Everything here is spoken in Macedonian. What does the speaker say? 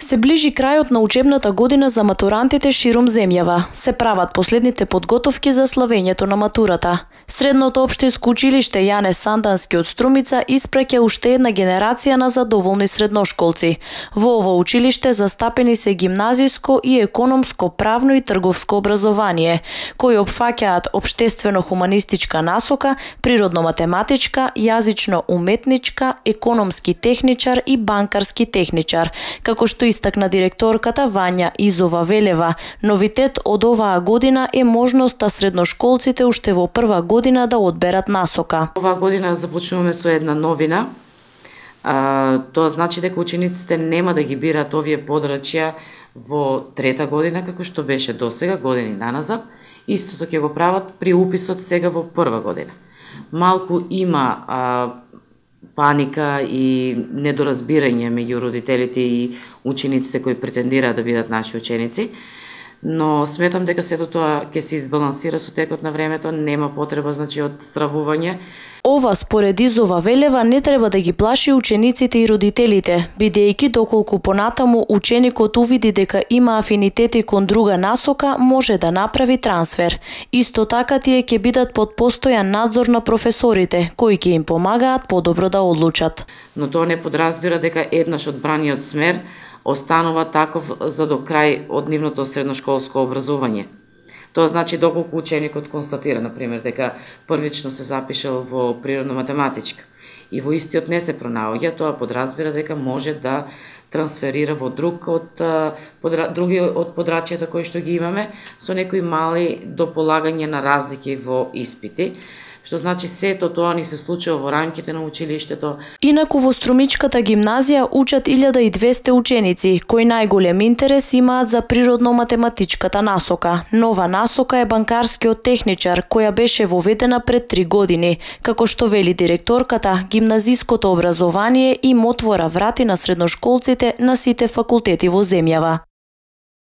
Се ближи крајот на учебната година за матурантите широм земјава. Се прават последните подготовки за славењето на матурата. Средното општинско училиште Јане Сандански од Струмица испраќа уште една генерација на задоволни средношколци. Во ово училиште застапени се гимназиско и економско, правно и трговско образование, кои опфаќаат општествено-хуманистичка насока, природно-математичка, јазично-уметничка, економски техничар и банкарски техничар, како што истакна директорката Вања Изова Велева. Новитет од оваа година е можноста средношколците уште во прва година да одберат насока. Оваа година започнуваме со една новина. Тоа значи дека учениците нема да ги бираат овие подрачја во трета година, како што беше досега, години наназад. Истото ќе го прават при уписот сега во прва година. Малку има паника и недоразбирање меѓу родителите и учениците кои претендираат да бидат наши ученици, но сметам дека сето тоа ќе се избалансира со текот на времето, нема потреба од стравување. Ова според Изова Велева не треба да ги плаши учениците и родителите, бидејќи доколку понатаму ученикот увиди дека има афинитети кон друга насока, може да направи трансфер. Исто така тие ќе бидат под постојан надзор на професорите, кои ќе им помагаат подобро да одлучат. Но тоа не подразбира дека еднаш одбраниот смер останува таков за до крај од нивното средношколско образование. Тоа значи доколку ученикот констатира, например, дека првично се запишал во природно-математичка и во истиот не се пронаоѓа, тоа подразбира дека може да трансферира во други од подрачјата кои што ги имаме, со некои мали дополагање на разлики во испити, што значи сето тоа ни се случува во рамките на училиштето. Инаку во Струмичката гимназија учат 1200 ученици, кои најголем интерес имаат за природно-математичката насока. Нова насока е банкарскиот техничар, која беше воведена пред 3 години. Како што вели директорката, гимназиското образование им отвора врати на средношколците на сите факултети во земјава.